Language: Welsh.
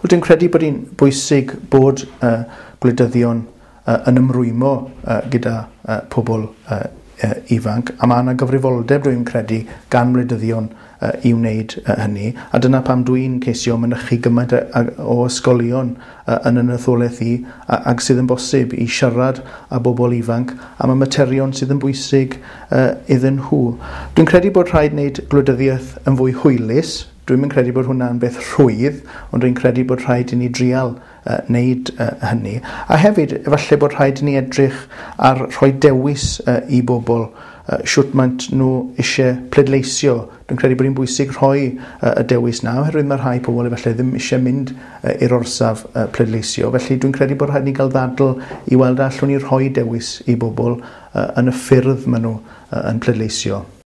Wel, dwi'n credu bod hi'n bwysig bod gwleidyddion yn ymrwymo gyda pobl ifanc, a mae yna gyfrifoldeb, dwi'n credu, gan wleidyddion i wneud hynny, a dyna pam dwi'n ceisio mynychu gymaint o ysgolion yn yn etholaeth i ag sydd yn bosib i siarad â bobl ifanc am y materion sydd yn bwysig iddyn nhw. Dwi'n credu bod rhaid wneud gwleidyddiaeth yn fwy hwylus. Dwi'm yn credu bod hwnna'n beth rhwydd, ond dwi'n credu bod rhaid i ni drial wneud hynny. A hefyd, efallai bod rhaid i ni edrych ar rhoi dewis i bobl shwt maent nhw eisiau pleidleisio. Dwi'n credu bod hi'n bwysig rhoi y dewis 'na, oherwydd mae rhai pobl efallai ddim eisiau mynd i'r orsaf pleidleisio. Felly dwi'n credu bod rhaid ni gael ddadl i weld a allwn ni rhoi dewis i bobl yn y ffyrdd maen nhw yn pleidleisio.